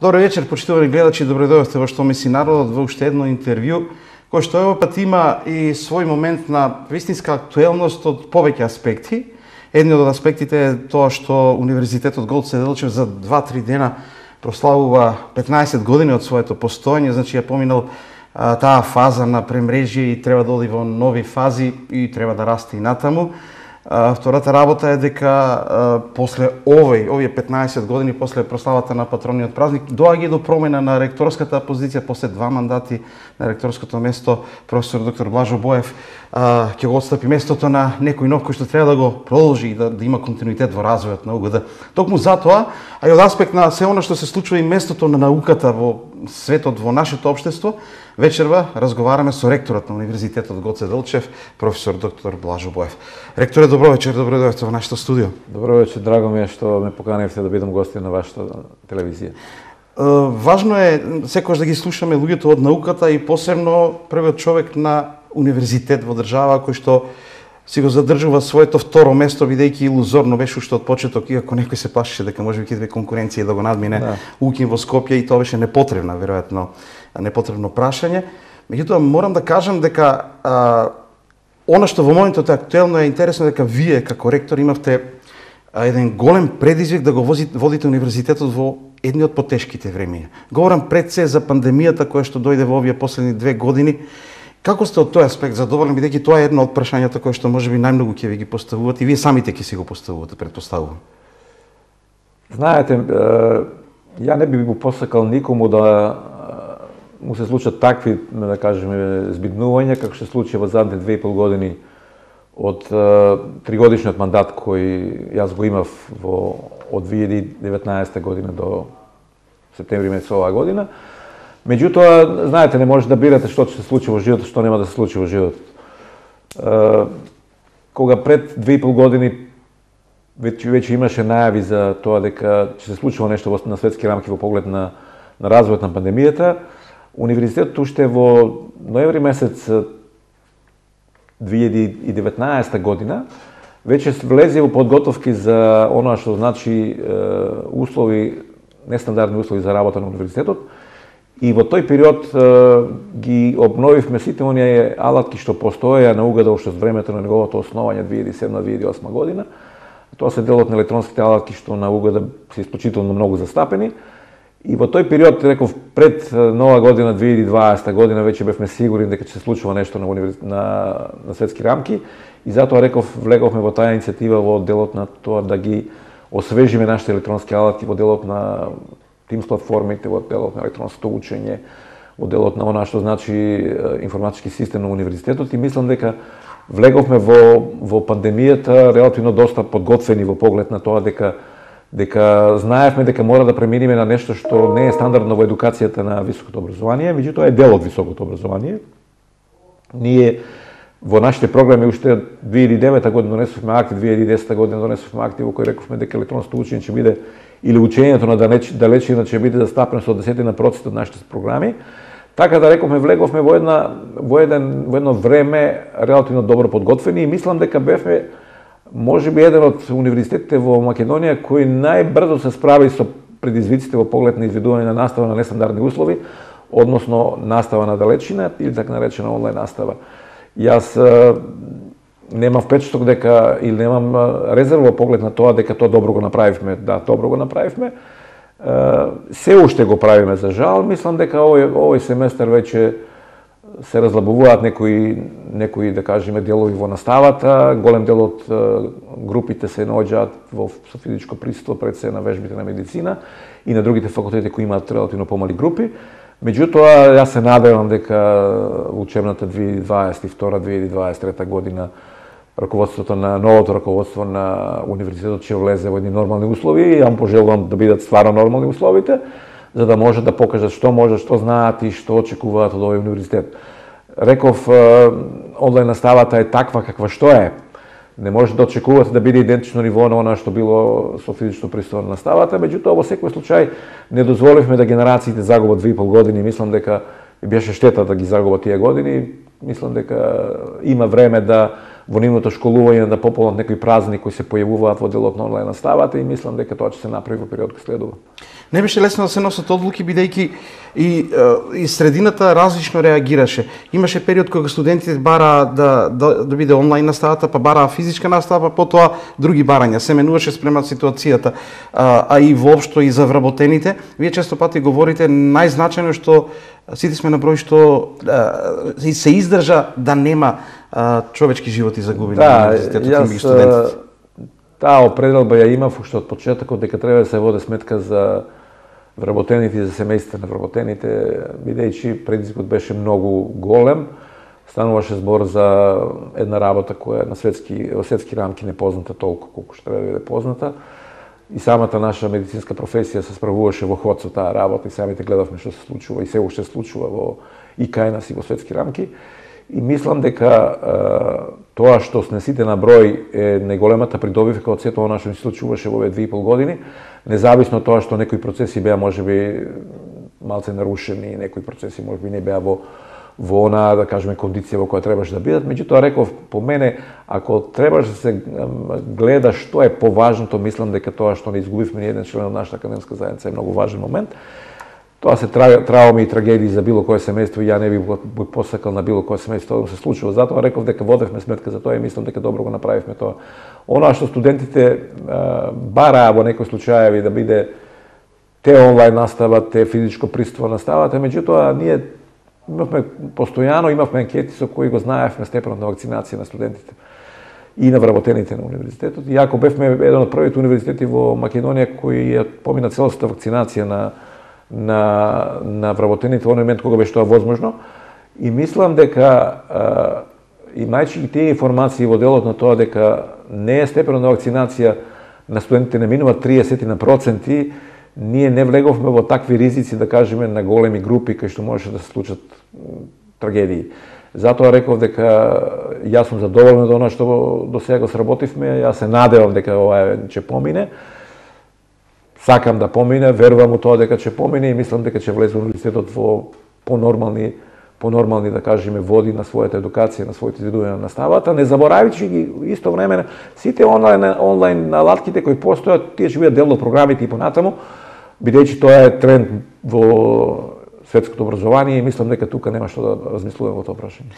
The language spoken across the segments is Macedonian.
Добро вечер, почитувани гледачи, добро дојдовте во Што мисли народот во уште едно интервју, кој што овој пат има и свој момент на вистинска актуелност од повеќе аспекти. Едниот од аспектите е тоа што Универзитетот Гоце Делчев за 2-3 дена прославува 15 години од своето постоење, значи ја поминал таа фаза на премрежје и треба да оди во нови фази и треба да расте и натаму. Втората работа е дека после овие 15 години, после прославата на патрониот празник, доаѓа до промена на ректорската позиција после 2 мандати на ректорското место. Професор доктор Блажо Боев ќе го отстапи местото на некој нов кој што треба да го продолжи и да има континуитет во развојот на УГД. Токму затоа, а и од аспект на се она што се случува и местото на науката во светот, во нашето општество, вечерва разговараме со ректорот на Универзитетот Гоце Делчев, професор доктор Блажо Боев. Ректоре, добро вечер, добро дојдовте во нашето студио. Добро вечер, драго ми е што ме поканивте да бидам гостин на вашата телевизија. Важно е секогаш да ги слушаме луѓето од науката и посебно првиот човек на универзитет во држава кој што си го задржува своето второ место, бидејќи илузорно беше уште од почеток, иако некој се плашеше дека можеби ќе биде конкуренција да го надмине Укин во Скопје, и тоа беше непотребна, веројатно, непотребно прашање. Меѓутоа, морам да кажам дека она што во моментот е актуелно е интересно дека вие како ректор имавте еден голем предизвик да го водите универзитетот во едни од потешките времиња. Говорам пред се за пандемијата која што дојде во овие последни 2 години. Како сте од тој аспект задоволни, бидејќи тоа е едно од прашањата кои што можеби најмногу ќе ви ги поставуваат и вие самите ќе си го поставувате, претпоставувам? Знаете, ја не би го посакал никому да му се случат такви, да кажеме, збиднувања како што се случи во задните 2,5 години од 3-годишниот мандат кој јас го имав од 2019 година до септември месец оваа година. Меѓутоа, знаете, не може да бирате што ќе се случи во животот, што нема да се случи во животот. Кога пред 2,5 години веќе имаше најави за тоа дека ќе се случува нешто на светски рамки во поглед на развојот на пандемијата, Универзитетот уште во ноември месец 2019 година веќе влезе во подготовки за оноа што значи услови, нестандардни услови за работа на универзитетот. И во тој период ги обновивме сите оние алатки што постоеја на УГД уште од времето на неговото основање 2007-2008 година. Тоа се делот на електронските алатки што на УГД се исклучително многу застапени. И во тој период, реков, пред нова година, 2020 година, веќе бевме сигурни дека ќе се случува нешто на светски рамки. И затоа, реков, влеговме во таа иницијатива во делот на тоа да ги освежиме нашите електронски алатки, во делот на Teams платформите, во делот на електронското учење, во делот на она што значи информатички систем на универзитетот, и мислам дека влеговме во пандемијата релативно доста подготвени во поглед на тоа дека знаевме дека мора да преминиме на нешто што не е стандардно во едукацијата на високото образование, меѓутоа е дел од високото образование. Ние во нашите програми уште 2009 година донесовме акти, 2010 година донесовме акти во кои рековме дека електронското учење ќе биде, или учењето на далечина ќе биде застапено со 10% од нашите програми. Така да рековме, влеговме во едно време релативно добро подготвени, и мислам дека бевме можеби еден од универзитетите во Македонија кој најбрзо се справи со предизвиците во поглед на изведување на настава на нестандардни услови, односно настава на далечина или така наречена онлайн настава. Јас немам впечаток дека, или немам резерва во поглед на тоа дека тоа добро го направивме. Да, добро го направивме. Се уште го правиме, за жал. Мислам дека овој семестар веќе се разлабуваат некои, да кажеме, делови во наставата. Голем дел од групите се наоѓаат со физичко присуство пред се на вежбите на медицина и на другите факултети кои имаат релативно помали групи. Меѓутоа, јас се надевам дека во учебната 2022-2023 година раководството на новото раководство на универзитетот ќе влезе во едни нормални услови, и јам пожелувам да бидат стварно нормални условите, за да можат да покажат што можат, што знаат и што очекуваат од овој универзитет. Реков, онлайн наставата е таква каква што е. Не може да очекувате да биде идентично ниво на она што било со физично присуство на наставата, меѓутоа во секој случај не дозволивме да генерациите загубат 2,5 години. Мислам дека беше штета да ги загубат тие години. Мислам дека има време да во нивното школување да пополнат некои празни кои се појавуваат во делот на онлайн наставата и мислам дека тоа ќе се направи во период кој следува. Не беше лесно да се носат одлуки, бидејќи и средината различно реагираше. Имаше период кога студентите бараа да биде онлайн наставата, па бараа физичка настава, па потоа други барања. Се менуваше спрема ситуацијата, а и воопшто и за вработените. Вие често пати говорите најзначајно што сите сме на број што се издржа да нема човечки животи загубени на универзитетот и студентите. Таа определба ја имав уште од почетокот дека треба да се води сметка за вработените и за семејствата на вработените, бидејќи предизвикот беше многу голем. Стануваше збор за една работа која на во светски рамки не позната толку колку што треба да биде позната. И самата наша медицинска професија се справуваше во ход со таа работа и самите гледавме што се случува и се уште случува во и кај нас и во светски рамки. И мислам дека тоа што сме сите на број е најголемата придобивка од сето она што се случуваше во овие 2,5 години, независно од тоа што некои процеси беа можеби малце нарушени, некои процеси можеби не беа во онаа, да кажеме, кондиција во која требаше да бидат. Меѓутоа, реков, по мене, ако требаш да се гледа што е поважното, мислам дека тоа што не изгубивме ни еден член од нашата академска заедница е многу важен момент. Тоа се трауми и трагедии за било кое семејство и ја не би посакал на било кое семејство да се случува. Затоа реков дека водевме сметка за тоа и мислам дека добро го направивме тоа. Она што студентите бараа во некои случаеви да биде те онлайн настава, те физичко присуство наставата, меѓутоа ние имавме анкети со кои го знаевме степенот на вакцинација на студентите и на вработените на универзитетот. И ако бевме еден од првите универзитети во Македонија кои ја помина целосната вакцинација на вработените во момент кога беше тоа возможно, и мислам дека имајќи тие информации во делот на тоа дека не е степенот на вакцинација на студентите не минува 30%, ние не влеговме во такви ризици, да кажеме, на големи групи кај што можеше да се случат трагедии. Затоа реков дека јас сум задоволен од она што до сега го сработивме, јас се надевам дека ова ќе помине. Сакам да помине, верувам у тоа дека ќе помине и мислам дека ќе влезе универзитетот во понормални, да кажеме, води на својата едукација, на своите изведувања на наставата, не заборавајќи ги исто време сите онлайн алатките кои постојат, тие ќе бидат дел од програмите и понатаму, бидејќи тоа е тренд во светското образование и мислам дека тука нема што да размислуваме во тоа прашање.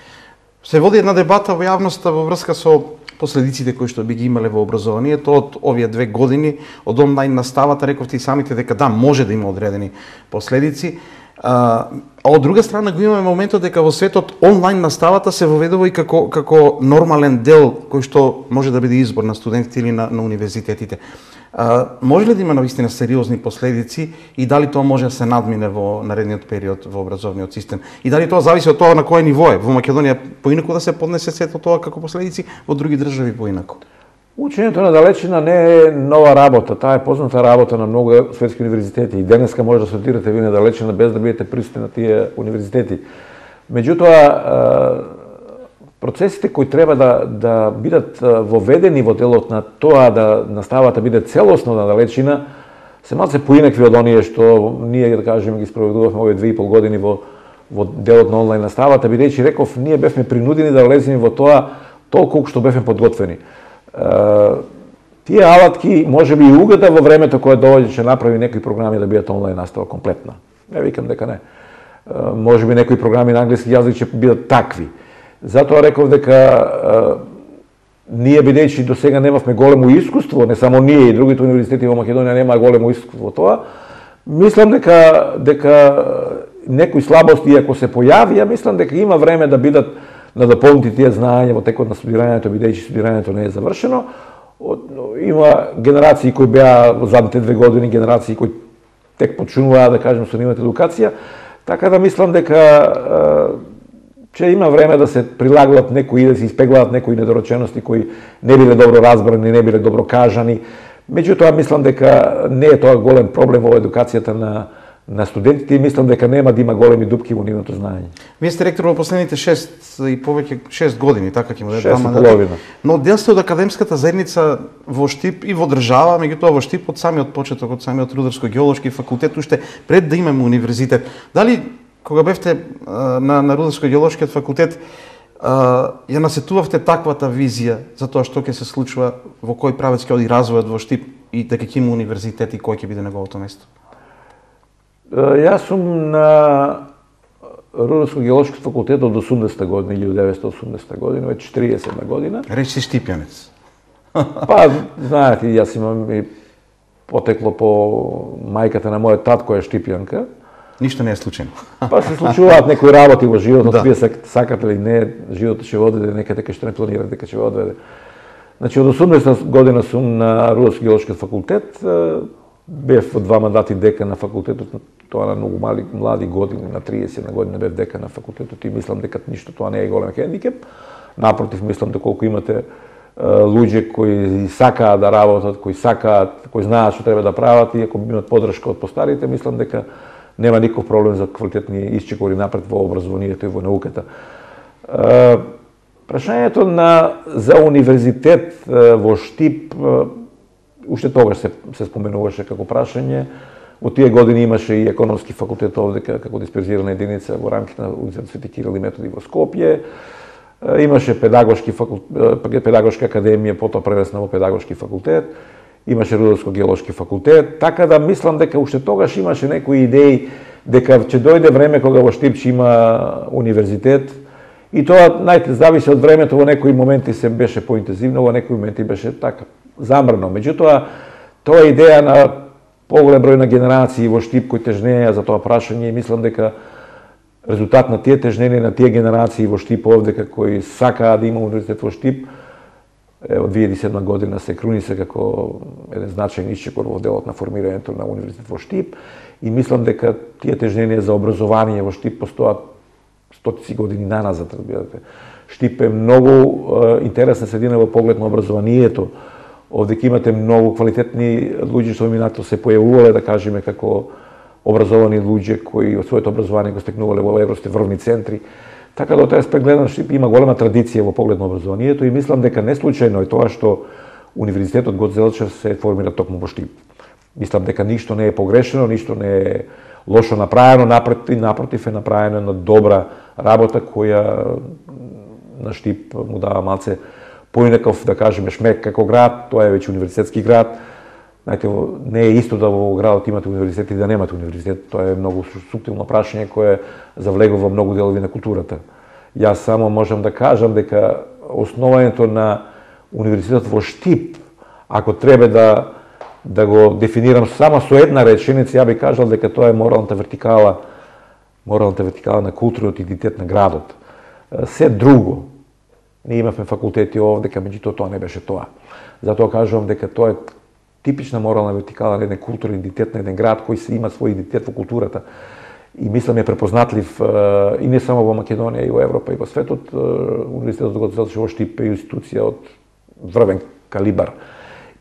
Се води една дебата во јавноста во врска со последиците кои што би ги имале во образованието од овие 2 години, од онлайн наставата, рековте и самите дека да, може да има одредени последици. А од друга страна го имаме моментот дека во светот онлайн наставата се воведува и како нормален дел кој што може да биде избор на студентите или на универзитетите. Може ли да има навистина сериозни последици и дали тоа може да се надмине во наредниот период во образовниот систем? И дали тоа зависи од тоа на кој ниво е? Во Македонија поинаку да се поднесе сето тоа како последици, во други држави поинаку? Учењето на далечина не е нова работа, таа е позната работа на многу светски универзитети и денеска може да студирате вие на далечина без да бидете присутни на тие универзитети. Меѓутоа, процесите кои треба да бидат воведени во делот на тоа да наставата биде целосно на далечина, се малце поинакви од оние што ние, да кажеме, ги спроведувавме овие 2,5 години во делот на онлайн наставата, бидејќи реков, ние бевме принудени да влеземе во тоа толку што бевме подготвени. Тие алатки, може би и угода во времето кое доаѓа ќе направи некои програми да бидат онлайн настава комплетна. Не викам дека не. Може би некои програми на англиски јазик ќе бидат такви. Затоа реков дека ние, бидејќи до сега немавме големо искуство, не само ние и другите универзитети во Македонија немаа големо искуство во тоа, мислам дека некои слабости ако се појави, мислам дека има време да бидат да дополнити тие знаења во текот на студирањето, бидејќи студирањето не е завршено. Има генерации кои беа во задните 2 години, генерации кои тек почнуваа, да кажем, со нивната едукација, така да мислам дека ќе има време да се прилагуваат некои, да се испеглаат некои недоречености кои не биле добро разбрани, не биле добро кажани. Меѓутоа, мислам дека не е тоа голем проблем во едукацијата на студентите и мислам дека нема да има големи дупки во нивното знаење. Вие сте ректор во последните 6 години, така ќе му даде 2 Но дел сте од академската заедница во Штип и во држава, меѓутоа во Штип од самиот почеток, од самиот Рударско-геолошки факултет, уште пред да имаме универзитет. Дали кога бевте на Рударско-геолошкиот факултет, ја насетувавте таквата визија за тоа што ќе се случува, во кој правец ќе оди развојот во Штип и дека ќе има универзитет и кој ќе биде неговото место? Јас сум на Рударско-геолошки факултет од 80-та година, 1980 година, веќе 40 година. Речи Штипјанец. Па, знаете, јас имам и потекло по мајката на мојот тат која е Штипјанка. Ништо не е случајно. Па се случуваат некои работи во животот, вие сакате или не, животот ќе одведе некаде дека што не планирате дека ќе одведе. Значи од 80 година сум на Рударско-геолошки факултет, бев во 2 мандати декан на факултетот, тоа на многу млади години, на 30 година бев декан на факултетот и мислам дека ништо тоа не е голем хендикеп. Напротив, мислам дека колку имате луѓе кои сакаат да работат, кои знаат што треба да прават и ако имат поддршка од постарите, мислам дека нема никаков проблем за квалитетни исчекори напред во образованието и во науката. Прашањето за универзитет во Штип уште тогаш се споменуваше како прашање. Во тие години имаше и економски факултет овде како дисперзирана единица во рамките на Универзитетот Свети Кирил и Методи во Скопје. Имаше педагошка академија, потоа превесна во педагошки факултет. Имаше Рударско-геолошки факултет, така да мислам дека уште тогаш имаше некои идеи дека ќе дојде време кога во Штип ќе има универзитет и тоа зависи од времето, во некои моменти се беше поинтензивно, во некои моменти беше така замрно. Меѓутоа, тоа е идеја на поголем број на генерации во Штип кои тежнеја за тоа прашање и мислам дека резултат на тие тежнења на тие генерации во Штип овде кои сакаат да има универзитет во Штип, од 2007 година се крунисе како еден значајен исчекор во делот на формирањето на универзитет во Штип и мислам дека тие тежнења за образование во Штип постојат стотици години наназад, разбирате. Штип е многу интересна средина во поглед на образованието. Овде ќе имате многу квалитетни луѓе што минато се појавувале, да кажеме, како образовани луѓе кои од своето образование го стекнувале во европските врвни центри. Така да од тој аспект гледам, Штип има голема традиција во поглед на образованието и мислам дека не случајно е тоа што Универзитетот Гоце Делчев се формира токму во Штип. Мислам дека ништо не е погрешено, ништо не е лошо направено, напротив е направено на добра работа која на Штип му дава малце поинаков, да кажеме, шмек како град, тоа е веќе универзитетски град. Знаете, не е исто да во градот имате универзитет и да немате универзитет. Тоа е многу суптилно прашање кое завлегува во многу делови на културата. Јас само можам да кажам дека основањето на универзитетот во Штип, ако треба да го дефинирам само со една реченица, ја би кажал дека тоа е моралната вертикала на културниот идентитет на градот. Се друго, ние имавме факултети овде, меѓутоа тоа не беше тоа. Затоа кажувам дека тоа е типична морална вертикала на еден културен идентитет на еден град кој се има свој идентитет во културата. И мислам е препознатлив и не само во Македонија, и во Европа, и во светот. Универзитетот Гоце Делчев во Штип е институција од врвен калибар.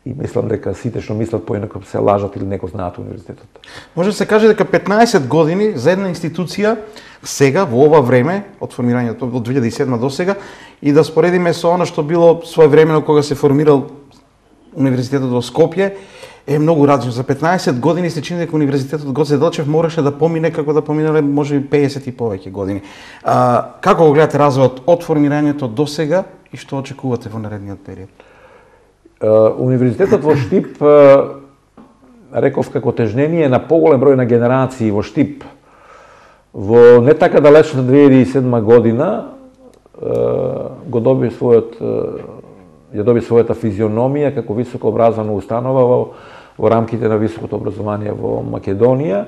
И мислам дека сите што мислат поинако се лажат или не го знаат универзитетот. Може да се каже дека 15 години за една институција сега, во ова време, од формирањето од 2007 до сега, и да споредиме со она што било своевремено кога се формирал Универзитетот во Скопје, е многу различно. За 15 години се чини дека Универзитетот Гоце Делчев мораше да помине како да поминале можеби 50 и повеќе години. Како го гледате развојот од формирањето до сега и што очекувате во наредниот период? Универзитетот во Штип, реков како тежнение на поголем број на генерации во Штип, во не така далечна 2007 година ја доби својата физиономија како високо образована установа во рамките на високото образование во Македонија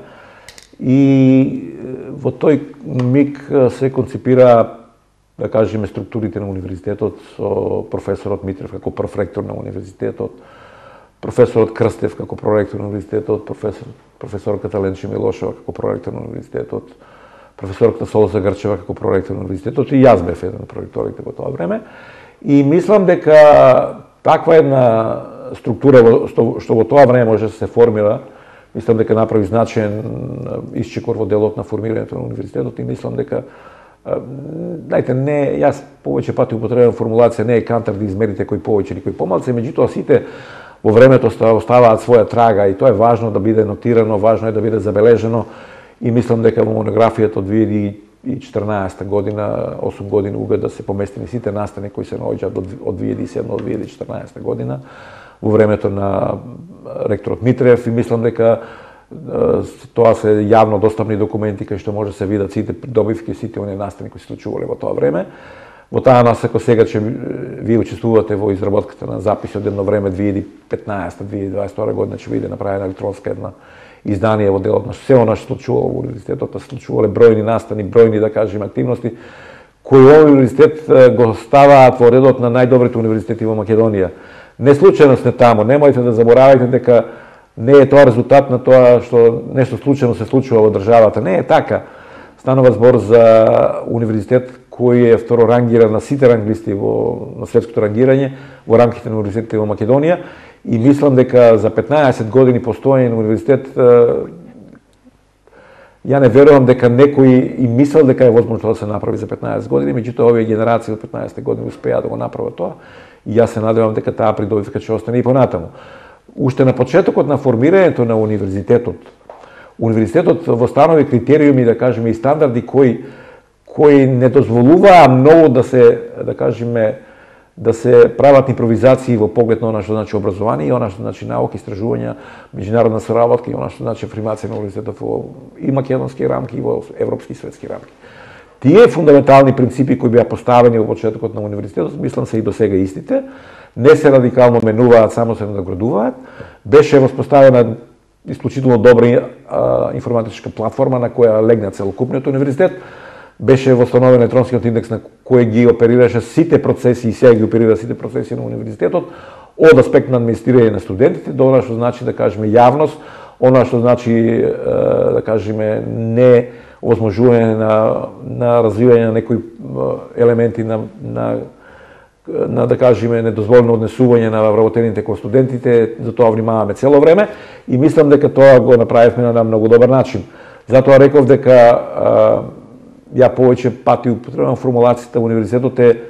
и во тој миг се концепира, да кажеме, структурите на универзитетот со професорот Митрев како прв ректор на универзитетот, професорот Крстев како проректор на универзитетот, професорката Ленче Милошева како проректор на универзитетот, професорката Солоса Грчева како проректор на универзитетот и јас бев еден од проректорите во тоа време. И мислам дека таква една структура што во тоа време може да се формира, мислам дека направи значаен исчекор во делот на формирањето на универзитетот и мислам дека јас повеќе пати употребувам формулација, не е кантар да измерите кој повеќе или кој помалце, меѓутоа сите во времето оставаат своја трага и тоа е важно да биде нотирано, важно е да биде забележено и мислам дека во монографијата од 2014 година, 8 години УГ да се поместени сите настани кои се наоѓаат од 2007 до 2014 година во времето на ректорот Митрев, и мислам дека тоа се јавно достапни документи кај што може да се видат сите придобивки, сите оние настани кои се случувале во тоа време. Во таа насока сега че вие учествувате во изработката на записи од едно време 2015-2022 година, ќе биде направена електронска една издание во делот на се она што случувало во универзитетот, случувале бројни настани, бројни, да кажем, активности кои овој универзитет го ставаат во редот на најдобрите универзитети во Македонија. Не случајно сте таму, немојте да заборавате дека не е тоа резултат на тоа што нешто случајно се случува во државата. Не е така. Станува збор за универзитет кој е второрангиран на сите ранглисти на светското рангирање во рамките на универзитетите во Македонија, и мислам дека за 15 години постоење на универзитет ја не верувам дека некој и мислел дека е возможно да се направи за 15 години, меѓутоа овие генерации од 15 години успеа да го направат тоа, и јас се надевам дека таа придобивка ќе остане и понатаму. Уште на почетокот на формирањето на универзитетот востанови критериуми, да кажеме, и стандарди кои не дозволуваа многу да се, да кажеме, да се прават импровизации во поглед на она што значи образование и она што значи наука, истражувања, меѓународна соработка и она што значи афирмација на универзитетот во и македонски рамки и во европски и светски рамки. Тие фундаментални принципи кои беа поставени во почетокот на универзитетот, мислам се и до сега истите, не се радикално менуваат, само се надоградуваат. Беше воспоставена исклучително добра информатичка платформа на која легна целокупниот универзитет. Беше восстановен електронскиот индекс на кој ги оперираше сите процеси и сега ги оперира сите процеси на универзитетот, од аспект на администрирање на студентите до она што значи, да кажеме, јавност, она што значи, да кажеме, не овозможување на развивање на некои елементи на да кажеме недозволено однесување на вработените кон студентите. За тоа внимаваме цело време и мислам дека тоа го направивме на многу добар начин. Затоа реков дека ја повеќе пати употребувам формулацијата универзитетот е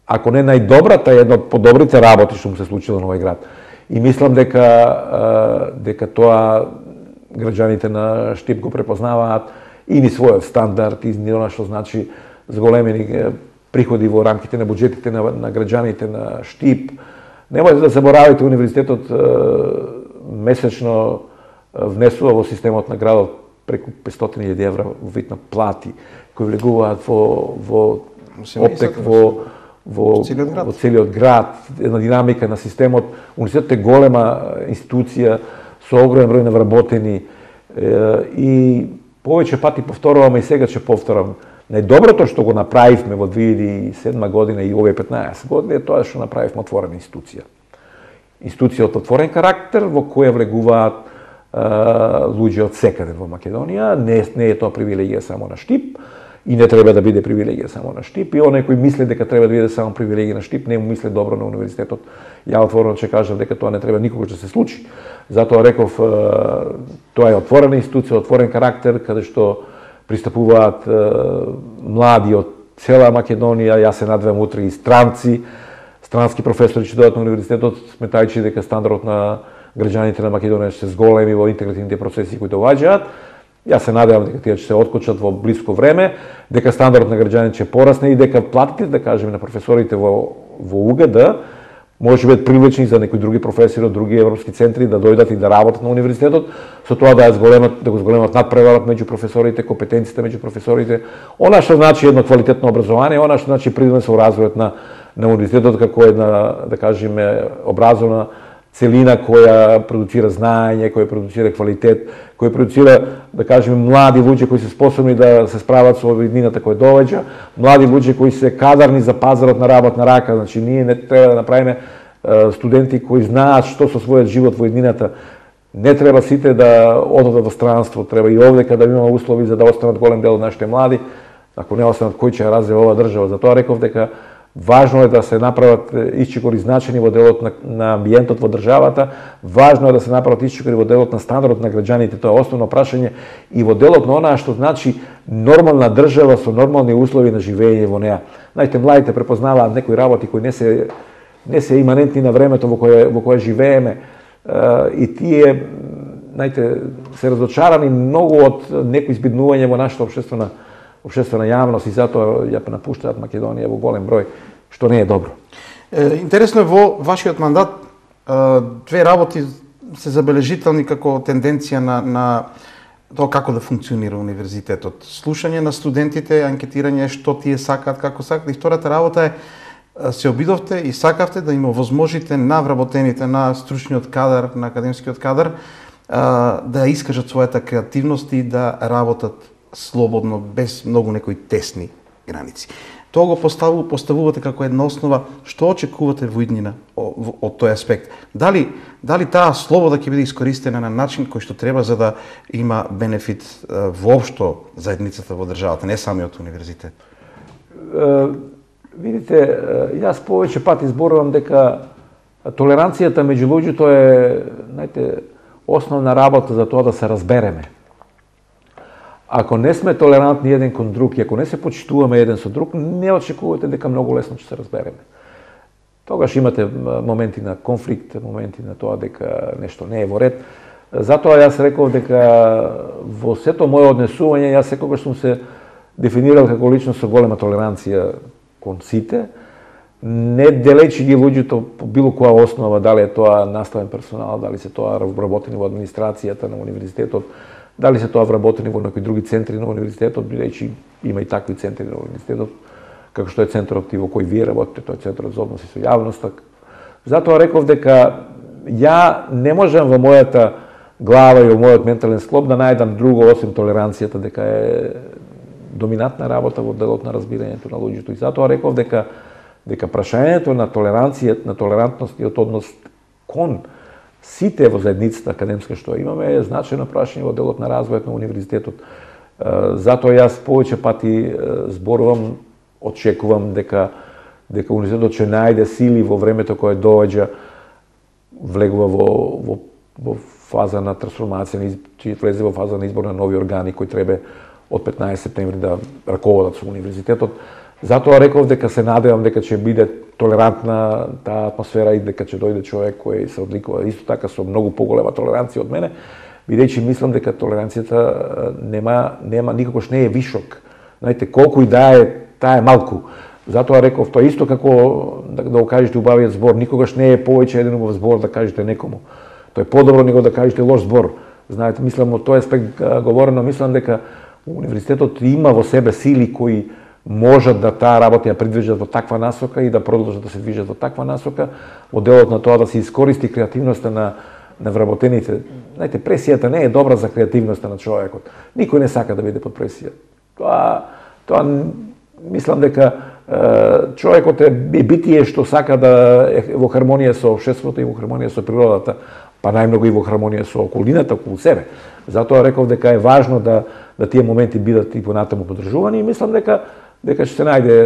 ако не најдобрата, една од подобрите работи што му се случило на овој град. И мислам дека тоа граѓаните на Штип го препознаваат и ни својот стандард, и ни она што значи зголемени приходи во рамките на буџетите на граѓаните на Штип. Немојте да заборавите, универзитетот месечно внесува во системот на градот преку 500.000 евра во вид на плати кои влегуваат во оптек во целиот град, една динамика на системот. Универзитетот е голема институција со огромен број на вработени и повеќе пати повторуваме и сега ќе повторам. Најдоброто што го направивме во 2007 година и овие 15 години е тоа што направивме отворена институција. Институција од отворен карактер во која влегуваат луѓе од секаде во Македонија. Не е тоа привилегија само на Штип и не треба да биде привилегија само на Штип. И оној кој мисли дека треба да биде само привилегија на Штип, не му мисли добро на универзитетот. Ја отворено ќе кажам дека тоа не треба никогаш да се случи. Затоа реков, тоа е отворена институција, отворен карактер, каде што пристапуваат млади од цела Македонија. Јас се надевам утре и странски професори ќе дојдат на универзитетот, сметајќи дека стандардот на граѓаните на Македонија ќе се зголеми во интегративните процеси кои доаѓаат. Јас се надевам дека тие ќе се откочат во блиско време, дека стандардот на граѓаните ќе порасне и дека платите, да кажеме, на професорите во УГД може да бидат привлечени за некои други професори од други европски центри да дојдат и да работат на универзитетот, со тоа да го зголемат надпреварот меѓу професорите, компетенциите меѓу професорите, она што значи едно квалитетно образование, она што значи придонес во развојот на универзитетот како една, да кажеме, образовна целина која продуцира знаење, која продуцира квалитет, која продуцира, да кажеме, млади луѓе кои се способни да се справат со иднината која доаѓа, млади луѓе кои се кадарни за пазарот на работна рака. Значи, ние не треба да направиме студенти кои знаат што со својот живот во иднината. Не треба сите да одат во странство, треба и овдека да имаме услови за да останат голем дел од нашите млади. Ако не останат, кој ќе ја развива оваа држава? Затоа реков дека важно е да се направат исчекори значени во делот на амбиентот во државата, важно е да се направат исчекори во делот на стандардот на граѓаните, тоа е основно прашање, и во делот на онаа што значи нормална држава со нормални услови на живење во неа. Знаете, младите препознаваат некои работи кои не се иманентни на времето во кое живееме, и тие се разочарани многу од некои избиднување во нашата општествена јавност и затоа ја напуштаат Македонија во голем број, што не е добро. Интересно е во вашиот мандат две работи се забележителни како тенденција на тоа како да функционира универзитетот. Слушање на студентите, анкетирање што тие сакаат, како сакаат. И втората работа е се обидовте и сакавте да им овозможите на вработените, на стручниот кадар, на академскиот кадар, да искажат својата креативност и да работат слободно, без многу некои тесни граници. Тоа го поставувате како една основа. Што очекувате во иднина од тој аспект? Дали таа слобода ќе биде искористена на начин кој што треба за да има бенефит воопшто заедницата во државата, не самиот универзитет? Видите, јас повеќе пати зборувам дека толеранцијата меѓу луѓето е, основна работа за тоа да се разбереме. Ако не сме толерантни еден кон друг и ако не се почитуваме еден со друг, не очекувате дека многу лесно ќе се разбереме. Тогаш имате моменти на конфликт, моменти на тоа дека нешто не е во ред. Затоа јас реков дека во сето моје однесување, јас секогаш сум се дефинирал како личност со голема толеранција кон сите, не делејќи ги луѓето по било која основа, дали е тоа наставен персонал, дали се тоа вработени во администрацијата на универзитетот, дали се тоа вработени во некои други центри на универзитетот, бидејќи има и такви центри на универзитетот, како што е центарот во кој вие работите, тој е центарот за односи со јавноста. Затоа реков дека ја не можам во мојата глава и во мојот ментален склоп да најдам друго осим толеранцијата, дека е доминантна работа во делот на разбирањето на луѓето. И затоа реков дека прашањето на толеранција, на толерантност и однос кон сите во заедницата академска што имаме е значајно прашање во делот на развојот на универзитетот. Затоа јас повеќе пати зборувам, очекувам дека универзитетот ќе најде сили во времето кое доаѓа, влегува во фаза на трансформација, ќе влезе во фаза на избор на нови органи кои треба од 15 септември да раководат со универзитетот. Затоа реков дека се надевам дека ќе биде толерантна таа атмосфера и дека ќе дојде човек кој се одликува исто така со многу поголема толеранција од мене, бидејќи мислам дека толеранцијата нема никогаш не е вишок. Знаете, колку и да е, таа е малку. Затоа реков тоа исто како да го кажете убавиот збор, никогаш не е повеќе еден убав збор да кажете некому. Тоа е подобро него да кажете лош збор. Знаете, мислам од тој аспект говорено, мислам дека универзитетот има во себе сили кои можат да таа работа ја придвижат во таква насока и да продолжат да се движат во таква насока, во делот на тоа да се искористи креативноста на вработените. Знаете, пресијата не е добра за креативноста на човекот. Никој не сака да биде под пресија. Тоа мислам дека човекот е битие што сака да е во хармонија со општеството и во хармонија со природата, па најмногу и во хармонија со околината околу себе. Затоа реков дека е важно да тие моменти бидат и понатаму подржувани и мислам дека ќе се најде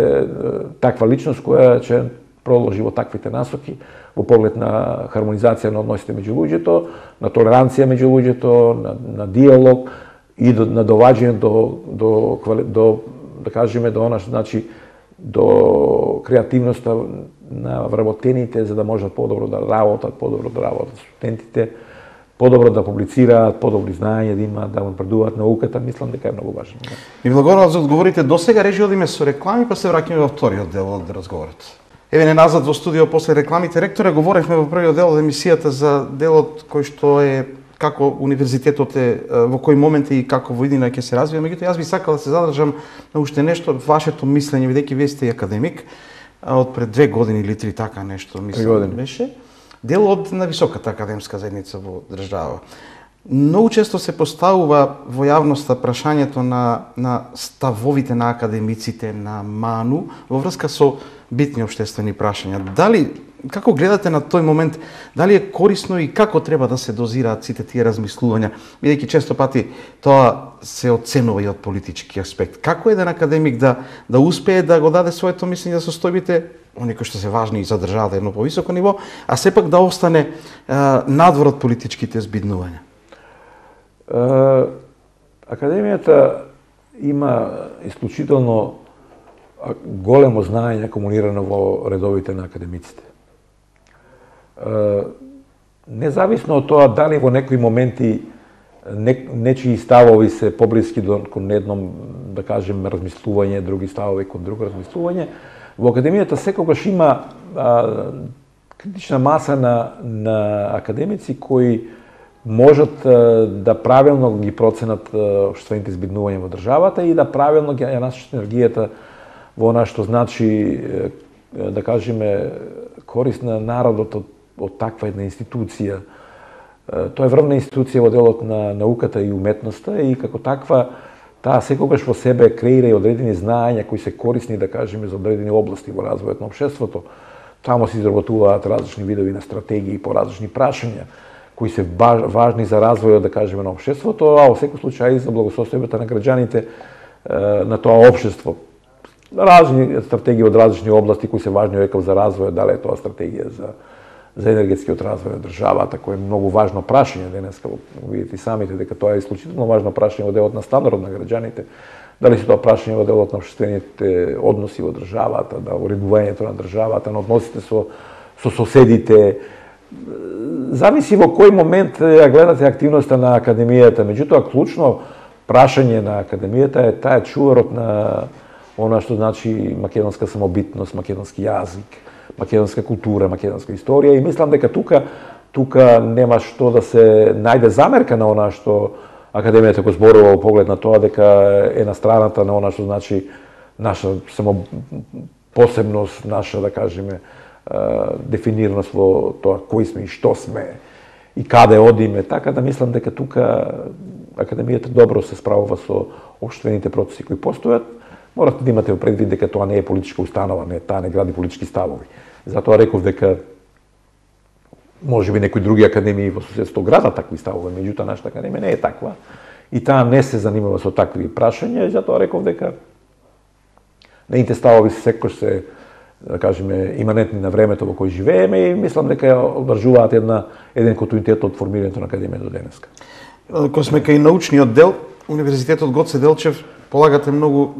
таква личност која ќе продолжи во таквите насоки во поглед на хармонизација на односите меѓу луѓето, на толеранција меѓу луѓето, на диалог и на доваѓање до да кажеме до креативноста на вработените за да можат подобро да работат студентите, подобро да публицираат, подобри знаења да имаат, да напредуваат науката, мислам дека е многу важно. И благодарам за одговорите. Досега режи одиме со реклами, па се враќаме во вториот дел од разговорот. Еве не назад во студио после рекламите. Ректоре, говоревме во првиот дел од емисијата за делот кој што е како универзитетот е, во кој момент и како во иднина ќе се развива. Меѓутоа, јас би сакал да се задржам на уште нешто, вашето мислење, бидејќи вие сте академик, од пред 2 години или 3 така нешто, мислам, беше. Дел од на високата академска заедница во држава. Многу често се поставува во јавноста прашањето на ставовите на академиците, на МАНУ, во врска со битни општествени прашања. Како гледате на тој момент, дали е корисно и како треба да се дозираат сите тие размислувања, бидејќи често пати тоа се оценува и од политички аспект. Како еден академик да успее да го даде своето мислење за состојбите, оние кои што се важни и за државата едно повисоко ниво, а сепак да остане надвор од политичките збиднувања? Академијата има исклучително големо знаење акумулирано во редовите на академиците. Независно од тоа дали во некои моменти нечии ставови се поблиски кон едном, да кажем, размислување, други ставови кон друго размислување. Во академијата секогаш има критична маса на академици кои можат да правилно ги проценат општествените избеднувања во државата и да правилно ги насочат енергијата во она што значи, да кажеме, корист на народот од таква една институција. Тоа е врвна институција во делот на науката и уметноста и како таква таа секогаш во себе креира и одредени знаења кои се корисни, да кажеме, за одредени области во развојот на општеството. Таму се изработуваат различни видови на стратегии по различни прашања кои се важни за развојот, да кажеме, на општеството, а во секој случај за благосостојбата на граѓаните на тоа општество. Различни стратегии од различни области кои се важни, реков, за развојот, дали е тоа стратегија за енергетскиот развој на државата, кој е многу важно прашање денеска, видите и самите дека тоа е исклучително важно прашање во делот на стандарот на граѓаните, дали се тоа прашање во делот на општествените односи во државата, да уредувањето на државата, на односите со соседите. Зависи во кој момент ја гледате активноста на академијата. Меѓутоа, клучно прашање на академијата е таа чуварот на она што значи македонска самобитност, македонски јазик, македонска култура, македонска историја, и мислам дека тука нема што да се најде замерка на она што академијата го зборува во поглед на тоа дека е на страната на она што значи наша посебност, наша, да кажеме, дефинираност во тоа кои сме и што сме и каде одиме, така да мислам дека тука академијата добро се справува со општествените процеси кои постојат. Морате да имате предвид дека тоа не е политичка установа, таа не гради политички ставови. Затоа реков дека можеби некои други академии во соседство градат такви ставови, меѓутоа нашата академија не е таква и таа не се занимава со такви прашања, и затоа реков дека неите ставови секој се, да кажеме, иманентни на времето во кој живееме и мислам дека одржуваат еден континуитет од формирањето на академијата до денеска. Кога сме кај научниот дел, Универзитетот Гоце Делчев полагате многу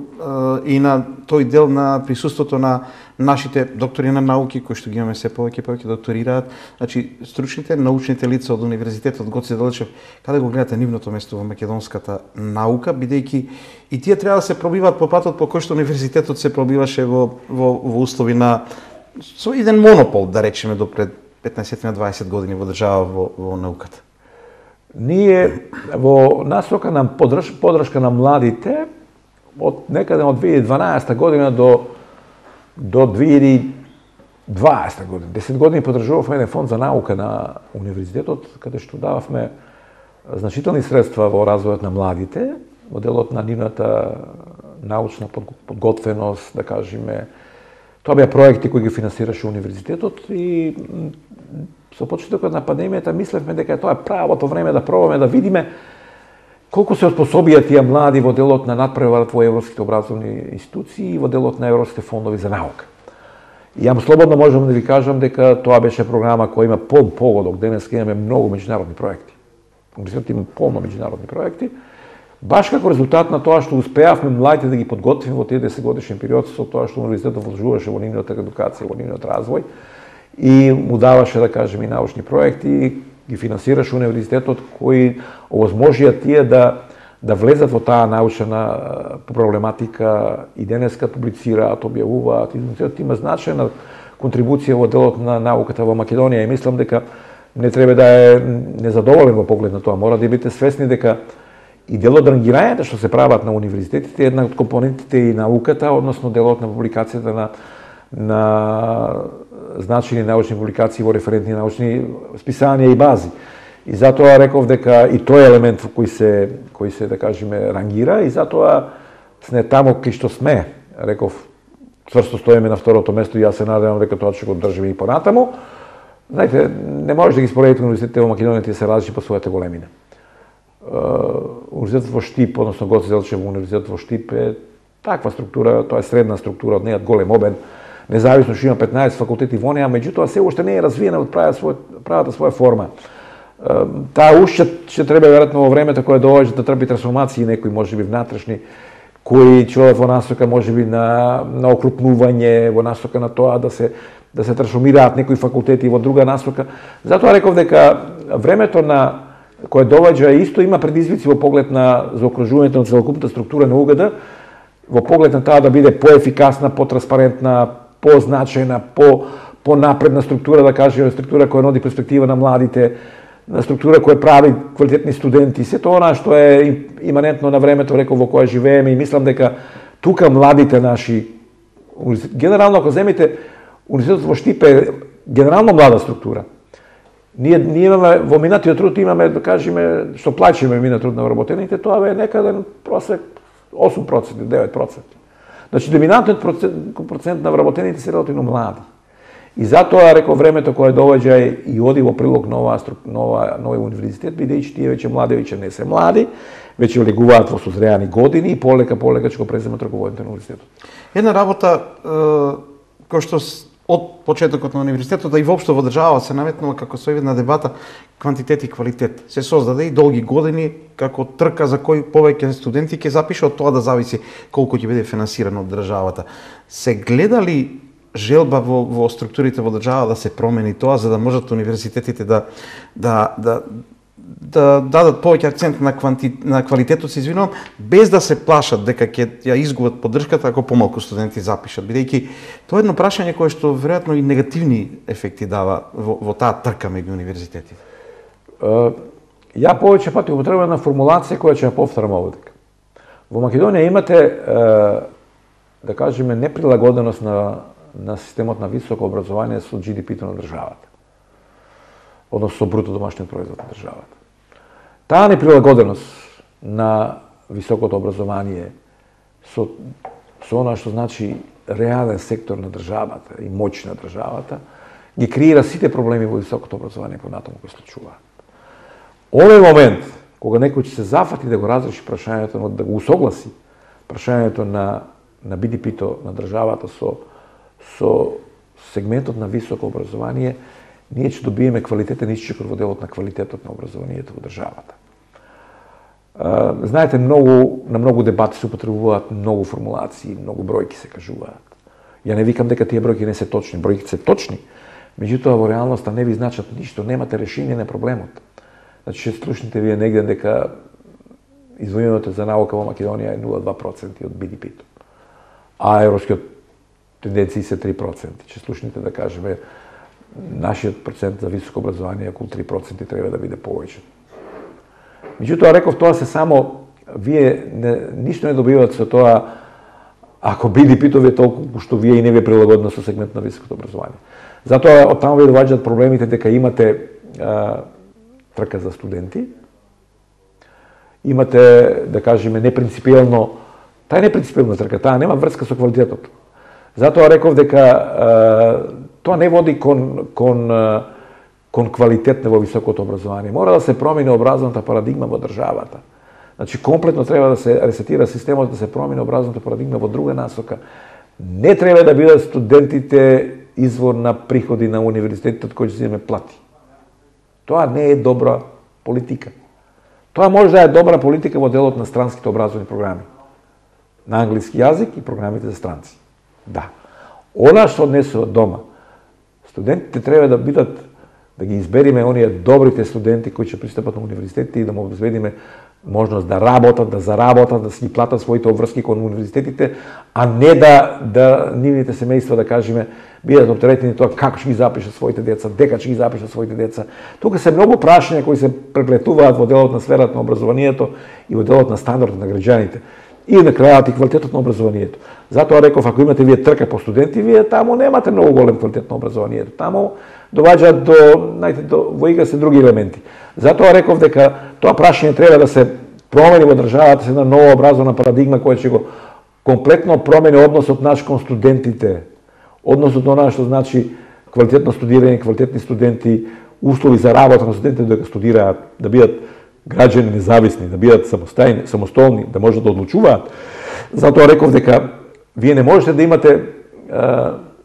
и на тој дел на присуството на нашите доктори на науки, кои што ги имаме се повеќе докторираат, значи стручните, научните лица од Универзитетот Гоце Делчев, каде го гледате нивното место во македонската наука, бидејќи и тие треба да се пробиваат по патот по кој што Универзитетот се пробиваше во услови на со еден монопол, да речеме, до пред 15-20 години во држава во науката. Ние во насока на подршка на младите од некаде од 2012 година до 2020 година, 10 години поддржувавме еден фонд за наука на универзитетот, каде што дававме значителни средства во развојот на младите, во делот на нивната научна подготвеност, да кажеме. Тоа беа проекти кои ги финансираше универзитетот и со почетокот на пандемијата мислевме дека тоа е правото време да пробаме да видиме колку се оспособија тие млади во делот на надпреварот во европските образовни институции и во делот на европските фондови за наука. И ја слободно можам да ви кажам дека тоа беше програма која има полн погодок. Денес имаме многу меѓународни проекти. Универзитетот има полно меѓународни проекти. Баш како резултат на тоа што успеавме младите да ги подготвиме во тие 10-годишен период, со тоа што универзитетот вложуваше во нивната едукација, во нивниот развој и му даваше, да кажеме, и научни проекти, ги финансираше универзитетот, кои овозможија тие да влезат во таа научна проблематика и денеска публицираат, објавуваат. Универзитетот има значајна контрибуција во делот на науката во Македонија и мислам дека не треба да е незадоволен во поглед на тоа. Мора да бидете свесни дека и делот рангирањата што се прават на универзитетите е една од компонентите и науката, односно делот на публикацијата на значајни научни публикации во референтни научни списанија и бази. И затоа реков дека и тој елемент кој се да кажеме рангира и затоа сме таму кај што сме. Реков цврсто стоиме на второто место и јас се надевам дека тоа ќе го држиме и понатаму. Знаете, не може да ги споредите универзитетите во Македонија, тие се различни по својата големина. Универзитетот во Штип, односно Гоце Делчев универзитетот во Штип е таква структура, тоа е средна структура, од нејат голем обем, независно што има 15 факултети во неа, меѓутоа се уште не е развиена од правата своја форма. Таа уште ќе треба веројатно во времето кое доаѓа да трпи трансформации некои можеби внатрешни, кои ќе одат во насока можеби на окрупнување, во насока на тоа да се трансформираат некои факултети во друга насока. Затоа реков дека времето на која доваѓа исто има предизвици во поглед на заокружувањето на целокупната структура на УГД, во поглед на таа да биде поефикасна, потранспарентна, позначајна, понапредна структура, да кажеме, структура која нуди перспектива на младите, на структура која прави квалитетни студенти, сето она што е иманентно на времето, реков, во кое живееме, и мислам дека тука младите наши, генерално ако земите универзитетот во Штипе е генерално млада структура. Ние имаме во минатиот труд имаме, да кажеме, што плачиме минат труд на вработените, тоа е некаде просек 8%, 9%. Значи доминантниот процент на вработените се релативно млади. И затоа, реков, времето кое доаѓа и оди во прилог на нови универзитет, бидејќи тие веќе млади, веќе не се млади, веќе влегуваат во созреани години и полека ќе го преземат раководите на универзитетот. Една работа која што од почетокот на универзитетот, да и воопшто во држава се наметнува како сојдна дебата квантитет и квалитет. Се создаде и долги години како трка за кој повеќе студенти ќе запише, од тоа да зависи колку ќе биде финансирано од државата. Се гледа ли желба во структурите во држава да се промени тоа, за да можат универзитетите да дадат повеќе акцент на квалитетот, се извинувам, без да се плашат дека ќе ја изгубат поддршката ако помалку студенти запишат, бидејќи тоа е едно прашање кое што веројатно и негативни ефекти дава во таа трка меѓу универзитетите. Ја повеќе пати употребувам на формулација која ќе ја повторам овде. Во Македонија имате, да кажеме, неприлагоденост на системот на високо образование со GDP-то на државата, односно со бруто домашниот производ на државата. Таа неприлагоденост на високото образование со она што значи реален сектор на државата и моќ на државата, ги креира сите проблеми во високото образование понатаму кои случуваат. Овој момент, кога некој ќе се зафати да го разреши прашањето, да го усогласи прашањето на BDP-то на државата со сегментот на високо образование, ние ќе добиеме квалитетен исчекор во делот на квалитетот на образованието во државата. Знаете, на многу дебати се употребуваат многу формулации, многу бројки се кажуваат. Ја не викам дека тие бројки не се точни, бројките се точни, меѓутоа во реалноста не ви значат ништо, немате решение на проблемот. Значи, ќе слушнете вие негде дека издвојувањето за наука во Македонија е 0,2% од BDP-то, а европскиот тенденции се 3%. Ќе слушнете да кажеме нашиот процент за високо образование околу 3% треба да биде повеќе. Меѓутоа, реков, тоа се само, вие ништо не добивате со тоа ако BDP-то ви е толку што вие и не ви е прилагодено со сегмент на високото образование. Затоа од таму ви доваѓаат проблемите дека имате трка за студенти, имате, да кажеме, непринципиелно, таа е непринципиелна трка, таа нема врска со квалитетот. Затоа реков дека тоа не води кон квалитет во високото образование. Мора да се промени образовната парадигма во државата. Значи, комплетно треба да се ресетира системот, да се промени образовната парадигма во друга насока. Не треба да бидат студентите извор на приходи на универзитетот кој ќе земе плати. Тоа не е добра политика. Тоа може да е добра политика во делот на странските образовни програми. На англиски јазик и програмите за странци. Да. Она што однесува дома, студентите треба да бидат, да ги избериме оние добрите студенти кои ќе пристапат на универзитетите и да му обезбедиме можност да работат, да заработат, да си ги платат своите обврски кон универзитетите, а не да нивните семејства, да кажеме, бидат оптеретени тоа како ќе ги запишат своите деца, дека ќе ги запишат своите деца. Тука се многу прашања кои се преплетуваат во делот на сферата на образованието и во делот на стандардот на граѓаните. И на крајот и квалитетот на образованието. Затоа реков, ако имате вие трка по студенти, вие таму немате многу голем квалитет на образованието. Таму доваѓаат во игра се други елементи. Затоа реков дека тоа прашање треба да се промени во државата, се една нова образовна парадигма која ќе го комплетно промени односот наш кон студентите. Односот на она што значи квалитетно студирање, квалитетни студенти, услови за работа на студентите дека студираат, да бидат граѓани независни, да бидат самостојни, да можат да одлучуваат. Затоа реков дека вие не можете да имате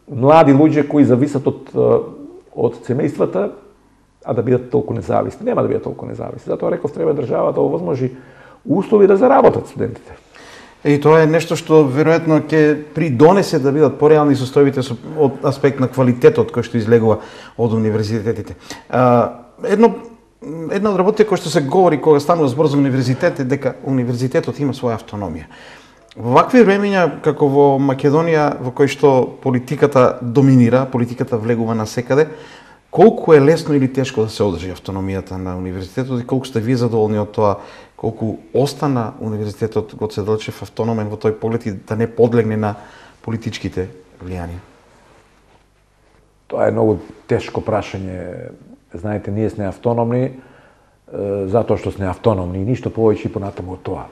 млади луѓе кои зависат од семејствата, а да бидат толку независни. Нема да бидат толку независни. Затоа реков треба држава да овозможи услови да заработат студентите. И тоа е нешто што веројатно ќе придонесе да бидат пореални состојбите од аспект на квалитетот кој што излегува од универзитетите. Едно една од работите кои што се говори кога станува збор за универзитет е дека универзитетот има своја автономија. Во вакви времења како во Македонија, во кој што политиката доминира, политиката влегува насекаде, колку е лесно или тешко да се одржи автономијата на универзитетот и колку сте вие задоволни од тоа, колку остана универзитетот Гоце Делчев автономен во тој поглед и да не подлегне на политичките влијанија? Тоа е многу тешко прашање. Знаете, ние сме автономни затоа што сме автономни и ништо повеќе и понатаму од тоа.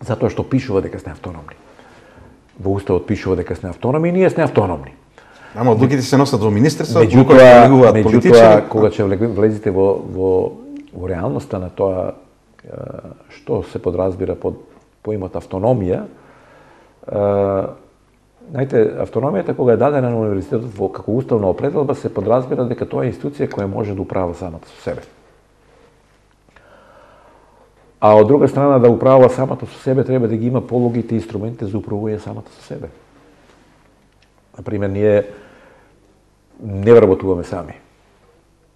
Затоа што пишува дека сме автономни. Во Уставот пишува дека сме автономни и ние сме автономни. Ама одлуките се носат во министерство, меѓутоа, кога ќе влезете во реалноста на тоа што се подразбира под поимот автономија, знаете, автономијата кога е дадена на универзитетот како уставна определба се подразбира дека тоа е институција која може да управува самата со себе. А од друга страна да управува самата со себе треба да ги има пологите и инструментите за управување самата со себе. Например, ние не вработуваме сами.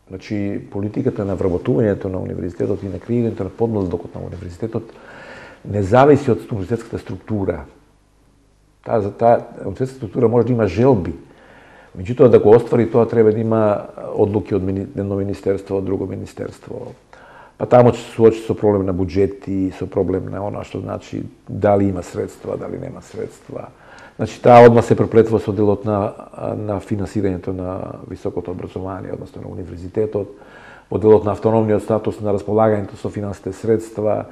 Значи, политиката на вработувањето на универзитетот и на креирањето на подмладокот на универзитетот не зависи од универзитетската структура. Таа универзитетската структура може да има желби. Меѓутоа, да го оствари тоа треба да има одлуки од едно министерство, од друго министерство. Па таму ќе се суочи со проблем на буџети, со проблем на она што значи дали има средства, дали нема средства. Значи, таа одма се преплетува со делот на финансирањето на високото образование, односно на универзитетот, во делот на автономниот статус на располагањето со финансите средства.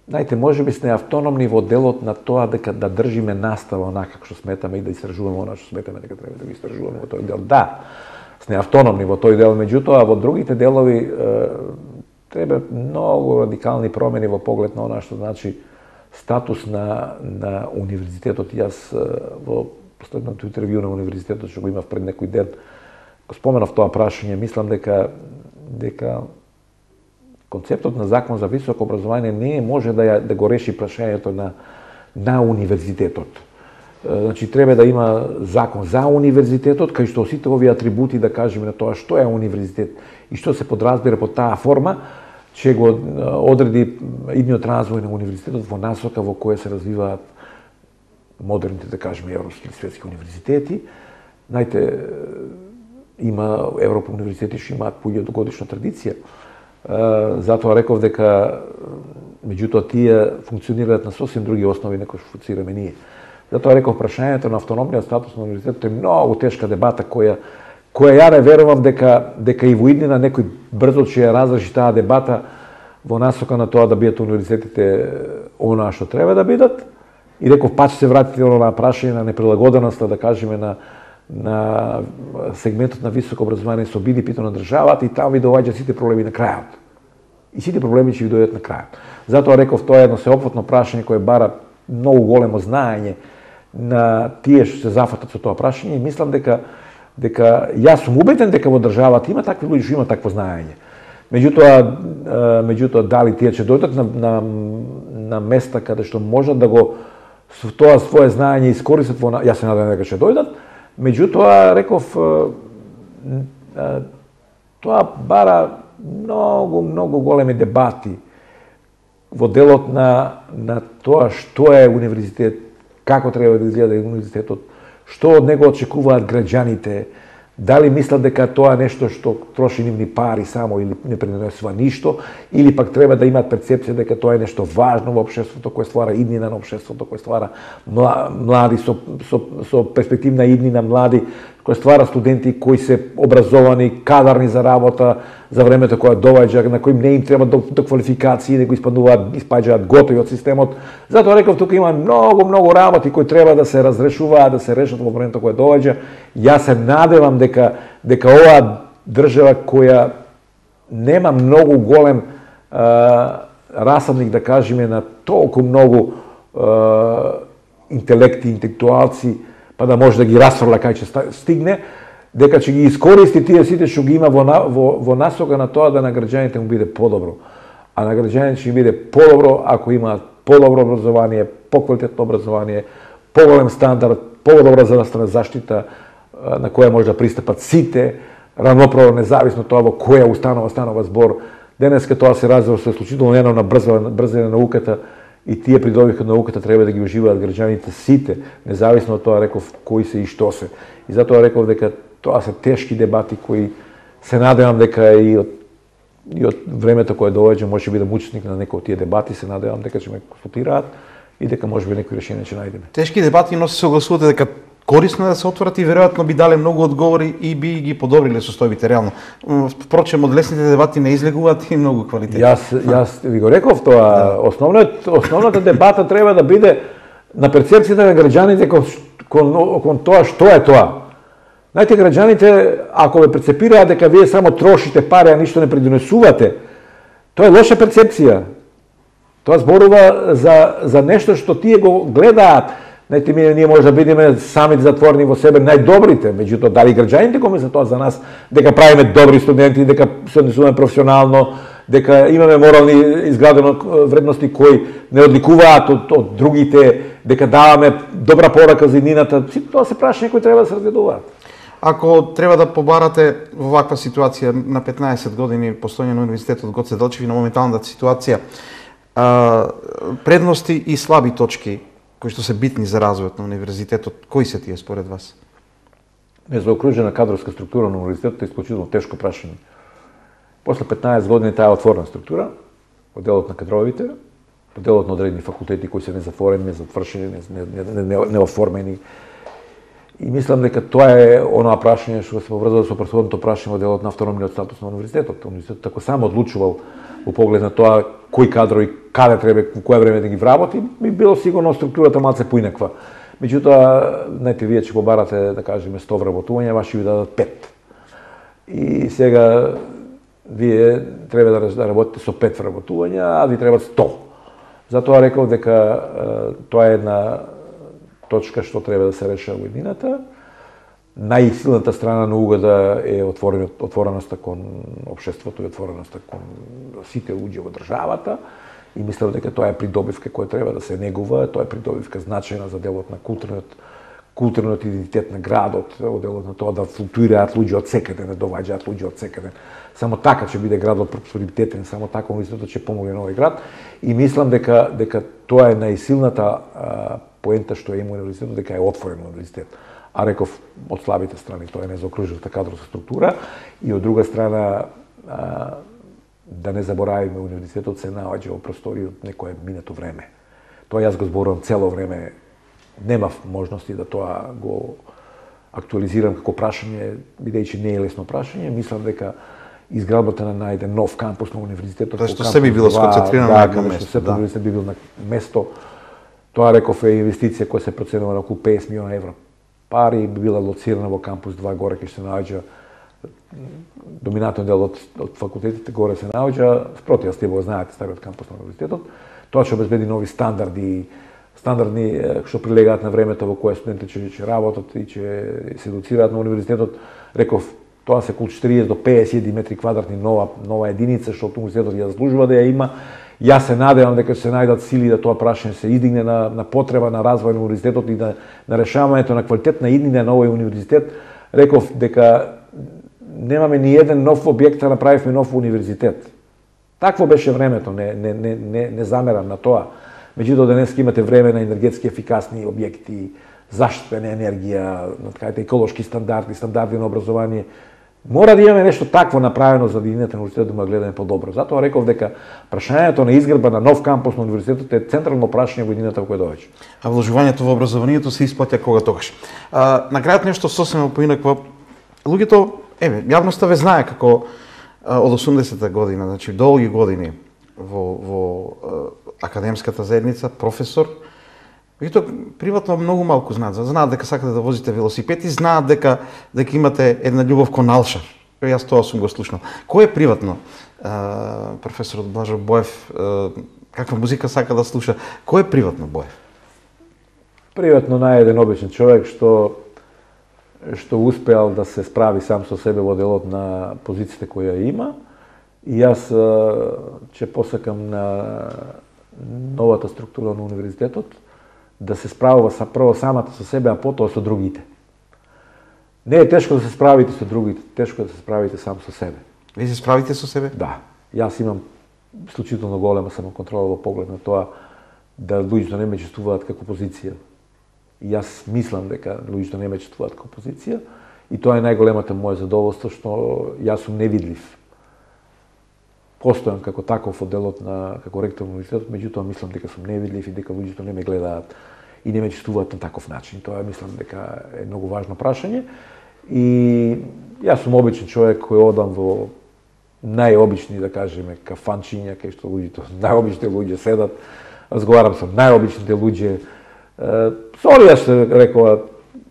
Знаете, може би сме автономни во делот на тоа дека да држиме настава онака како што сметаме и да истражуваме она што сметаме дека треба да го истражуваме во тој дел. Да, сме автономни во тој дел, меѓутоа во другите делови треба многу радикални промени во поглед на она што значи статус на универзитетот. Јас во последното интервју на универзитетот што го имав пред некој ден го споменав тоа прашање. Мислам дека концептот на закон за високо образование не може да го реши прашањето на универзитетот. Значи, треба да има закон за универзитетот, кај што сите овие атрибути, да кажеме, на тоа што е универзитет и што се подразбира под таа форма, ќе го одреди идниот развој на универзитетот во насока во која се развиваат модерните, да кажеме, европски или светски универзитети. Знаете, има Европа универзитети што имаат по 1000-годишна традиција. Затоа реков дека меѓутоа тие функционираат на сосем други основи на кои што функционираме ние. Затоа реков прашањето на автономниот статус на универзитетот е многу тешка дебата која ја не верувам дека и во иднина некој брзо ќе ја разреши таа дебата во насока на тоа да бидат универзитетите она што треба да бидат. И реков пак се вратите на прашање на неприлагоденоста, да кажеме, на сегментот на високо образование со BDP-то на државата, и таму ви доаѓаат сите проблеми на крајот. И сите проблеми ќе ви дојдат на крајот. Затоа реков тоа е едно сеопфатно прашање кое бара многу големо знаење на тие што се зафатат со тоа прашање, и мислам дека јас сум убеден дека во државата има такви луѓе што има такво знаење. Меѓутоа дали тие ќе дојдат на места каде што можат да го со тоа свое знаење искористат во, јас се надевам дека ќе дојдат. Меѓутоа реков тоа бара многу големи дебати во делот на тоа што е универзитет, како треба да изгледа универзитетот, што од него очекуваат граѓаните, дали мислат дека тоа нешто што троши нивни пари само или не пренесува ништо, или пак треба да имаат перцепција дека тоа е нешто важно во општеството, кое ствара иднина на општеството, кое ствара млади со перспективна иднина, млади, кој ствара студенти кои се образовани, кадарни за работа за времето кога доаѓа, на кои не им треба до квалификации, него испаѓаат готови од системот. Затоа реков, тука има многу работи кои треба да се разрешуваат, да се решат во времето кога доаѓа. Јас се надевам дека оваа држава која нема многу голем расадник, да кажеме, на толку многу интелекти, интелектуалци, па да може да ги расфрла кај ќе стигне, дека ќе ги искористи тие сите што ги има во насока на тоа да на граѓаните му биде подобро. А на граѓаните ќе биде подобро ако имаат подобро образование, поквалитетно образование, поголем стандард, подобра здравствена заштита, на која може да пристапат сите, равноправно, независно тоа во која установа збор. Денеска тоа се развива со исклучително на брзина на науката и тие придобивки на науката треба да ги уживаат граѓаните сите, независно од тоа реков кои се и што се. И затоа реков дека тоа се тешки дебати кои се надевам дека и од времето кое доаѓа може би да учесник на некои од тие дебати, се надевам дека ќе ме консултираат и дека може би некои решение ќе најдеме. Тешки дебати, но се согласувате дека корисно е да се отворат и веројатно би дале многу одговори и би ги подобриле состојбите реално. Впрочем, од лесните дебати не излегуваат и многу квалитети. Јас ви го реков тоа, основната дебата треба да биде на перцепцијата на граѓаните кон тоа што е тоа. Знаете, граѓаните, ако ве перцепираат дека вие само трошите пари, а ништо не придонесувате, тоа е лоша перцепција. Тоа зборува за нешто што тие го гледаат. Знаете, ние може да бидеме самите затворени во себе најдобрите, меѓутоа дали граѓаните го мислат тоа за нас, дека правиме добри студенти, дека се однесуваме професионално, дека имаме морални изградени вредности кои не одликуваат од другите, дека даваме добра порака за иднината, тоа се прашања кои треба да се разгледуваат. Ако треба да побарате во ваква ситуација на 15 години постоење на Универзитетот Гоце Делчев и на моменталната ситуација, предности и слаби точки кои што се битни за развојот на универзитетот, кои се тие според вас? Незаокружена кадровска структура на универзитетот е исклучително тешко прашање. После 15 години таа е отворена структура, во делот на кадровите, во делот на одредени факултети кои се незатворени, незавршени, неоформени. И мислам дека тоа е онаа прашање што се поврзува со претходното прашање во делот на автономниот статус на универзитетот. Универзитетот ако само одлучувал во поглед на тоа кои кадрови каде треба во кое време да ги вработи, би било сигурно структурата малце поинаква. Меѓутоа, знаете, вие ќе побарате, да кажеме, 100 вработувања, ваши ви дадат 5. И сега вие треба да работите со 5 вработувања, а ви требат 100. Затоа реков дека тоа е една точка што треба да се реша во еднината. Најсилната страна на угода е отвореноста кон општеството и отвореноста кон сите луѓе во државата. И мислам дека тоа е придобивка која треба да се негува, тоа е придобивка значајна за делот на културниот идентитет на градот, во делот на тоа да флуктуираат луѓе од секаде, да доаѓаат луѓе од секаде. Само така ќе биде градот просперитетен, само така универзитетот ќе помогне на овој град. И мислам дека тоа е најсилната поента што има универзитетот, дека е отворен универзитет. А реков, од слабите страни, тоа е незаокружената кадровска структура и од друга страна да не заборавиме, универзитетот се наоѓа во простори од некое минато време. Тоа јас го зборувам цело време, немав можности да тоа го актуализирам како прашање, бидејќи не е лесно прашање. Мислам дека изградбата на еден нов кампус на универзитетот, што се би било сконцентрирано на некој место, да, универзитет би бил на место. Тоа реков е инвестиција која се проценува на околу 50 милиона евро. Пари би била лоцирана во кампус 2 горе, кај се наоѓа доминантен дел од факултетите горе се наоѓа, спроти ја стебо знаете стариот кампус на универзитетот. Тоа ќе обезбеди нови стандардни што прилегаат на времето во кое студентите ќе работат и ќе се едуцираат на универзитетот. Реков, тоа се околу 40 до 50 метри квадратни нова единица што универзитетот ја заслужува да ја има. Јас се надевам дека ќе се најдат сили да тоа прашање се издигне на потреба на развој на универзитетот и на решавањето на квалитетна иднина на овој универзитет. Реков дека немаме ни еден нов објект, а направивме нов универзитет. Такво беше времето, не замерам на тоа. Меѓутоа денес имате време на енергетски ефикасни објекти, заштитена енергија, еколошки стандарди на образование. Мора да имаме нешто такво направено за да иднината на универзитетот да ме гледаме подобро. Затоа реков дека прашањето на изградба на нов кампус на универзитетот е централно прашање во иднината во која доаѓа. А вложувањето во образованието се исплаќа кога тогаш. На крајот нешто сосема поинакво. Луѓето, јавноста ве знае како од 80-та година, значи долги години во академската заедница, професор. Меѓутоа, приватно многу малку знаат дека сакате да возите велосипед и знаат дека имате една љубов кон алшар. Јас тоа сум го слушнал. Кој е приватно професорот Блажо Боев, каква музика сака да слуша? Кој е приватно Боев? Приватно наједен обичен човек што успеал да се справи сам со себе во делот на позицијата која има. И јас ќе посакам на новата структура на универзитетот да се справува прво самата со себе, а потоа со другите. Не е тешко да се справите со другите, тешко е да се справите сам со себе. Вие се справите со себе? Да. Јас имам исклучително голема самоконтрола во поглед на тоа да луѓето не ме чувствуваат како позиција. И јас мислам дека луѓето не ме чувствуваат како позиција и тоа е најголемата моја задоволство што јас сум невидлив. Постојам како таков од делот како ректор на универзитетот, меѓутоа мислам дека сум невидлив и дека луѓето не ме гледаат и не ме чувствуваат на таков начин. Тоа мислам дека е многу важно прашање и јас сум обичен човек кој одам во најобични, да кажеме, кафанчиња, кај што луѓето, најобични луѓе седат, разговарам со најобичните луѓе. Со се рекоа,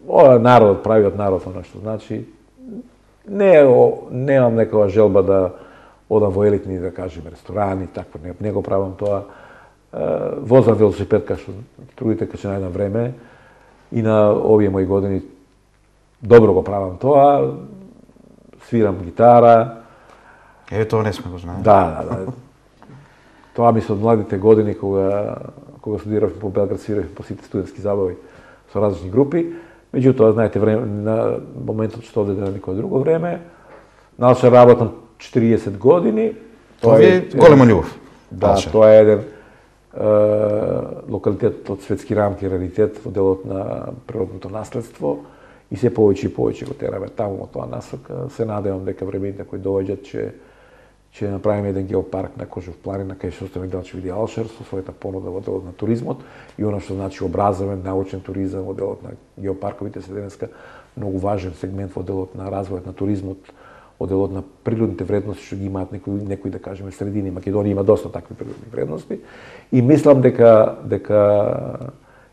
ова народот прави од народ, она што значи, немам некоја желба да одам во елитни, да кажеме, ресторани, такво, не го правам тоа. Возам велосипед, кај што другите кај што најдам време, и на овие мои години добро го правам тоа, свирам гитара. Тоа не сме го знаели. Да. Тоа ми се од младите години, кога студирав по Белград, свирав по сите студентски забави со различни групи. Меѓутоа, знаете, на моментот што овде на никој друго време, наче работам 40 години. Тоа е голема љубов. Да, тоа е еден локалитет од светски рамки, раритет во делот на природното наследство и се повеќе и повеќе го тераме таму во тоа насока. Се надевам дека времените кои доаѓаат ќе направиме еден геопарк на Кожов планина, кај што Стефан Мигдановиќ види Алшер со својата понуда во делот на туризмот и она што значи образовен, научен туризам во делот на геопарковите се денеска многу важен сегмент во делот на развојот на туризмот, во делот на природните вредности што ги имаат некои да кажеме средини. Македонија има доста такви природни вредности и мислам дека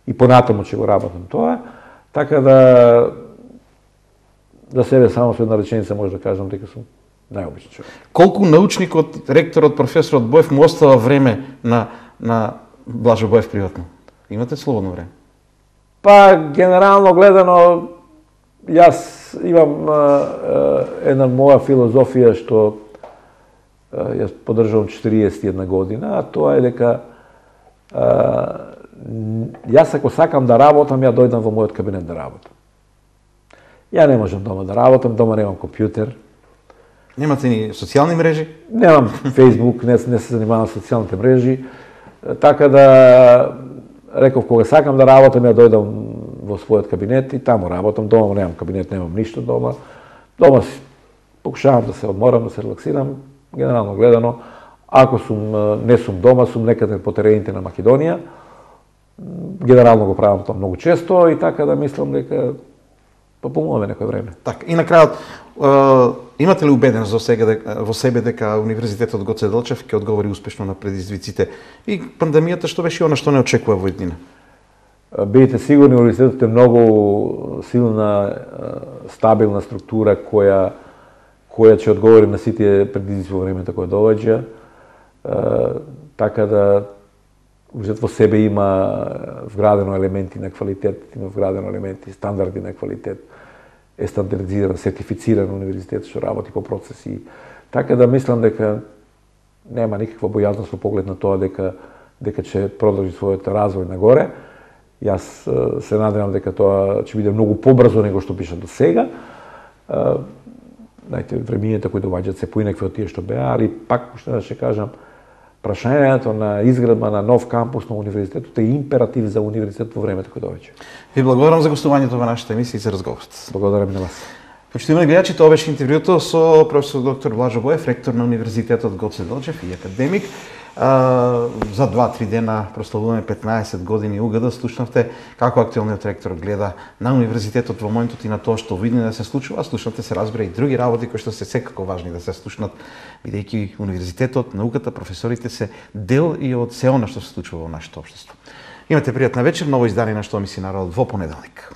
и понатаму ќе го работам тоа, така да за себе само со една реченица може да кажам дека сум најобичен човек. Колку научникот, ректорот, професорот Боев му остава време на Блажо Боев приватно? Имате слободно време? Па, генерално гледано, јас имам една моја филозофија што јас поддржувам 41 година, а тоа е дека јас ако сакам да работам, ја дојдам во мојот кабинет да работам. Ја не можам дома да работам, дома немам компјутер. Немате ни социјални мрежи? Немам Facebook, не се занимавам со социјалните мрежи, така да реков кога сакам да работам, ја дојдам во својот кабинет и таму работам. Дома немам кабинет, немам ништо дома. Дома си покушавам да се одморам, да се релаксирам, генерално гледано. Ако не сум дома, сум некаде по терените на Македонија. Генерално го правам тоа многу често и така да мислам дека попомнуваме некој време. Така, и на крајот, имате ли убеденост во себе дека Универзитетот Гоце Делчев ќе одговори успешно на предизвиците и пандемијата што беше она што не очекува во иднина? Бидете сигурни, универзитетот е многу силна, стабилна структура која ќе одговори на сите предизвици во времето кое доаѓа. Така да универзитетот во себе има вградено елементи на квалитет, има вградено елементи стандарди на квалитет, е стандардизиран, сертифициран универзитет што работи по процеси. Така да мислам дека нема никаква бојазност во поглед на тоа дека ќе продолжи својот развој нагоре. Јас се надевам дека тоа ќе биде многу побрзо него што пиша до сега. Знаете, времењата кои доаѓаат се поинакви од тие што беа, али пак уште да ќе кажам, прашањето на изградба на нов кампус на универзитетот е императив за универзитет во времето кое доаѓа. Ви благодарам за гостувањето во нашата емисија и за разговорот. Благодарам на вас. Почитувани гледачи, тоа беше интервјуто со професор доктор Блажо Боев, ректор на Универзитетот Гоце Делчев и академик. За 2-3 дена прославуваме 15 години УГД. Слушнавте како актуелниот ректор гледа на универзитетот во моментот и на тоа што види да се случува. Слушнавте се разбира и други работи кои што се секако важни да се слушнат, бидејќи универзитетот, науката, професорите се дел и од се она што се случува во нашето општество. Имате пријатна вечер, ново издание на Што мисли народот во понеделник.